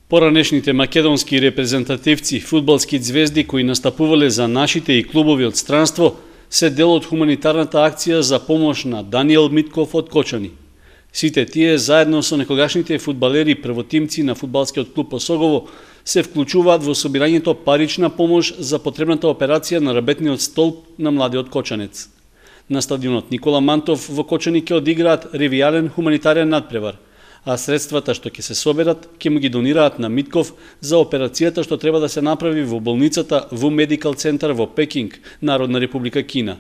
Поранешните македонски репрезентативци, фудбалски звезди кои настапувале за нашите и клубови од странство, се дел од хуманитарната акција за помош на Даниел Митков од Кочани. Сите тие, заедно со некогашните фудбалери првотимци на фудбалскиот клуб Осогово, се вклучуваат во собирањето парична помош за потребната операција на рабетниот столб на младиот кочанец. На стадионот Никола Мантов во Кочани ќе одиграат ревијален хуманитарен надпревар, а средствата што ќе се соберат ќе му ги донираат на Митков за операцијата што треба да се направи во болницата ВУ Медикал центар во Пекинг, Народна република Кина.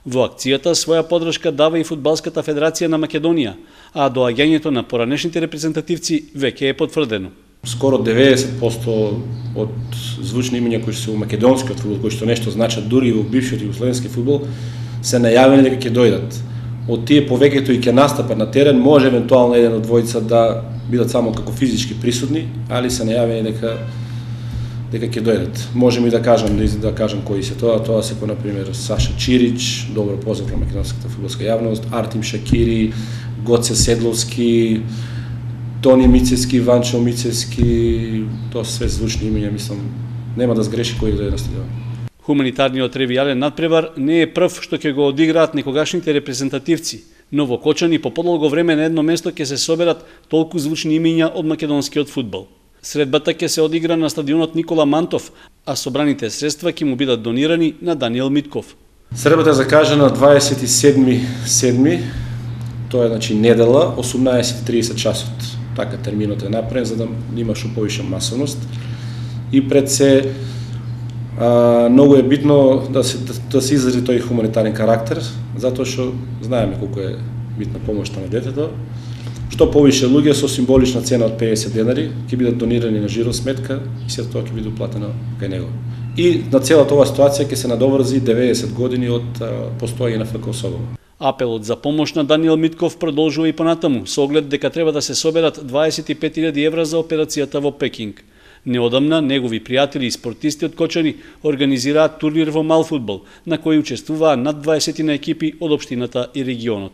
Во акцијата своја подршка дава и Фудбалската федерација на Македонија, а доаѓањето на поранешните репрезентативци веќе е потврдено. Скоро 90% од звучни имиња кои се во македонскиот фудбал, кои што нешто значат дури и во бившиот југословенски фудбал, се најавени дека ќе дојдат. Од тие повеќето и ќе настапат на терен, може евентуално еден од двојца да бидат само како физички присутни, али се најавени дека ќе дојдат. Можеме и да кажам кои се тоа се на пример Саша Чирич, добро познат на македонската фудбалска јавност, Артим Шакири, Гоце Седловски, Тони Мицевски, Ванчо Мицевски, тоа се звучни имиња, мислам, нема да сгреши кој да дојде на стадион. Хуманитарниот ревијален надпревар не е прв што ќе го одиграат некогашните репрезентативци, но во Кочани по подолго време на едно место ќе се соберат толку звучни имиња од македонскиот фудбал. Средбата ќе се одигра на стадионот Никола Мантов, а собраните средства ќе му бидат донирани на Даниел Митков. Средбата е закажана 27.7. Тоа е значи недела, 18:30 часот. Така терминот е направен за да има што повише масовност. И пред се многу е битно да се изрази тој хуманитарен карактер, затоа што знаеме колку е битна помошта на детето. Што повише луѓе со символична цена од 50 денари ќе бидат донирани на жиро сметка и се тоа ќе биде уплатено кај него. И на целата оваа ситуација ќе се надоврзи 90 години од постоење на ФК Осогово. Апелот за помош на Даниел Митков продолжува и понатаму, со оглед дека треба да се соберат 25.000 евра за операцијата во Пекинг. Неодамна, негови пријатели и спортисти од Кочани организираат турнир во мал фудбал, на кој учествуваа над 20 екипи од општината и регионот.